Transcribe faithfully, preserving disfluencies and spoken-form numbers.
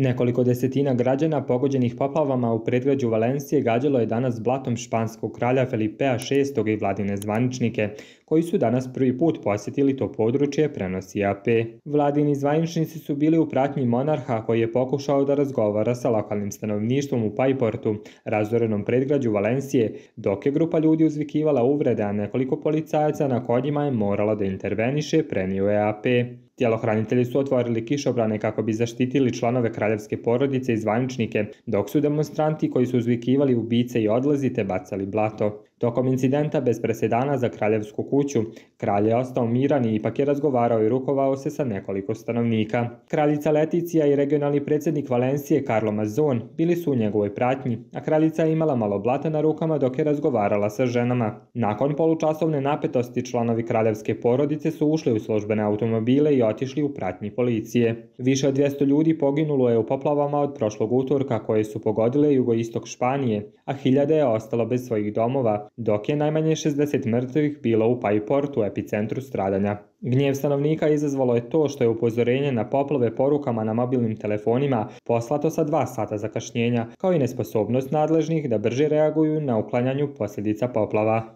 Nekoliko desetina građana pogođenih poplavama u predgrađu Valencije gađalo je danas blatom španskog kralja Felipea šestog i vladine zvaničnike, koji su danas prvi put posjetili to područje, prenosi A P. Vladini zvaničnici su bili u pratnji monarha koji je pokušao da razgovara sa lokalnim stanovništvom u Paiportu, razorenom predgrađu Valencije, dok je grupa ljudi uzvikivala uvrede, a nekoliko policajaca na konjima je moralo da interveniše, prenio je A P. Tjelohranitelji su otvorili kišobrane kako bi zaštitili članove kraljevske porodice i zvaničnike, dok su demonstranti koji su uzvikivali ubice i odlazite bacali blato. Tokom incidenta bez presedana za kraljevsku kuću, kralj je ostao miran i ipak je razgovarao i rukovao se sa nekoliko stanovnika. Kraljica Leticija i regionalni predsjednik Valencije Carlo Mazzon bili su u njegovoj pratnji, a kraljica je imala malo blata na rukama dok je razgovarala sa ženama. Nakon polučasovne napetosti članovi kraljevske porodice su ušli u službene automobile i otišli u pratnji policije. Više od dvjesto ljudi poginulo je u poplavama od prošlog utorka koje su pogodile jugoistok Španije, a hiljade je ostalo bez svojih domova, dok je najmanje šezdeset mrtvih bilo u Paiportu, epicentru stradanja. Gnjev stanovnika izazvalo je to što je upozorenje na poplave porukama na mobilnim telefonima poslato sa dva sata zakašnjenja, kao i nesposobnost nadležnih da brže reaguju na uklanjanju posljedica poplava.